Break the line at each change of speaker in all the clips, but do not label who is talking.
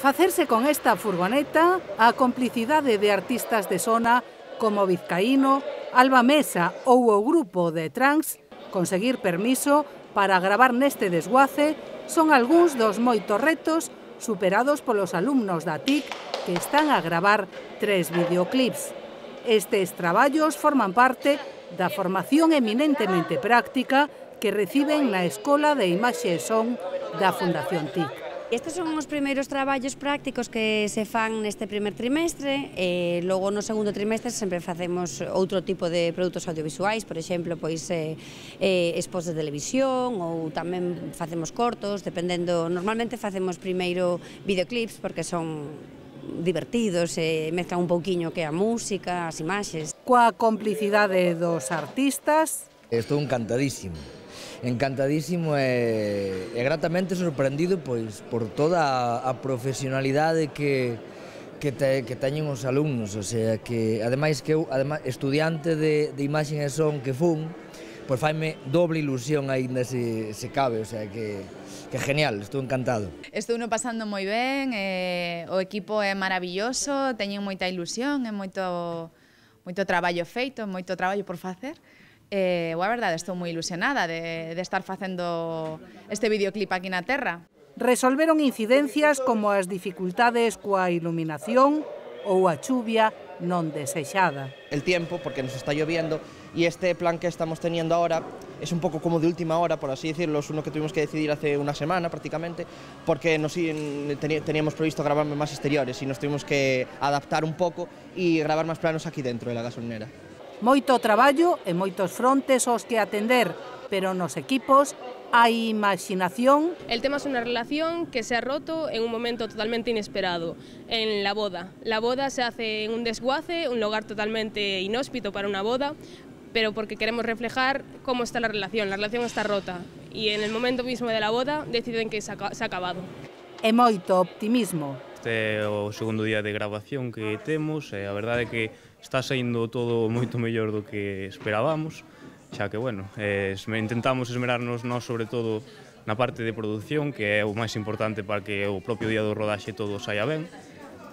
Facerse con esta furgoneta a complicidade de artistas de sona como Vizcaíno, Alba Mesa ou o grupo de Trans, conseguir permiso para gravar neste desguace son algúns dos moitos retos superados polos alumnos da TIC que están a gravar 3 videoclips. Estes traballos forman parte da formación eminentemente práctica que reciben na Escola de Imaxe e Son da Fundación TIC.
Estes son os primeiros traballos prácticos que se fan neste primer trimestre e logo no segundo trimestre sempre facemos outro tipo de produtos audiovisuais, por exemplo, pois expos de televisión ou tamén facemos cortos, dependendo, normalmente facemos primeiro videoclips porque son divertidos e mezclan un pouquiño que a música, as imaxes.
Coa complicidade dos artistas.
Estou encantadísimo e gratamente sorprendido pois por toda a profesionalidade que teñen os alumnos, o sea que ademais que eu, estudiante de imaxe e son que fun, pois faime doble ilusión aínda se cabe, o sea que genial, estou encantado.
Estou no pasando moi ben, o equipo é maravilloso, teñen moita ilusión, é moito traballo feito, moito traballo por facer. A verdade, estou moi ilusionada de estar facendo este videoclip aquí na terra.
Resolveron incidencias como as dificultades coa iluminación ou a chuvia non desexada.
El tiempo, porque nos está lloviendo, y este plan que estamos teniendo ahora es un poco como de última hora, por así decirlo, es uno que tuvimos que decidir hace una semana prácticamente, porque teníamos previsto grabar más exteriores y nos tuvimos que adaptar un poco y grabar más planos aquí dentro de la gasolinera.
Moito traballo e moitos frontes aos que atender, pero nos equipos hai imaxinación.
El tema es una relación que se ha roto en un momento totalmente inesperado, en la boda. La boda se hace en un desguace, un lugar totalmente inhóspito para una boda, pero porque queremos reflejar cómo está la relación está rota y en el momento mismo de la boda deciden que se ha acabado.
E moito optimismo.
Este é o segundo día de grabación que temos e a verdade é que está saindo todo moito mellor do que esperábamos, xa que, bueno, intentamos esmerarnos nós sobre todo na parte de produción, que é o máis importante para que o propio día do rodaxe todo saia ben.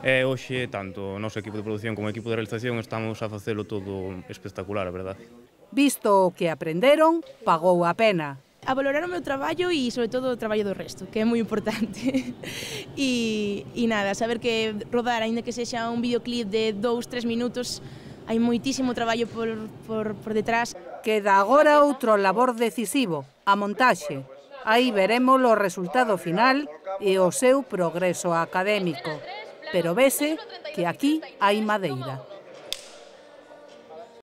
E hoxe, tanto o noso equipo de produción como o equipo de realización estamos a facelo todo espectacular, a verdade.
Visto o que aprenderon, pagou a pena.
A valorar o meu traballo e, sobre todo, o traballo do resto, que é moi importante. E nada, saber que rodar, aínda que sexa un videoclip de 2-3 minutos, hai moitísimo traballo por detrás.
Queda agora outro labor decisivo, a montaxe. Aí veremos o resultado final e o seu progreso académico. Pero vese que aquí hai madeira.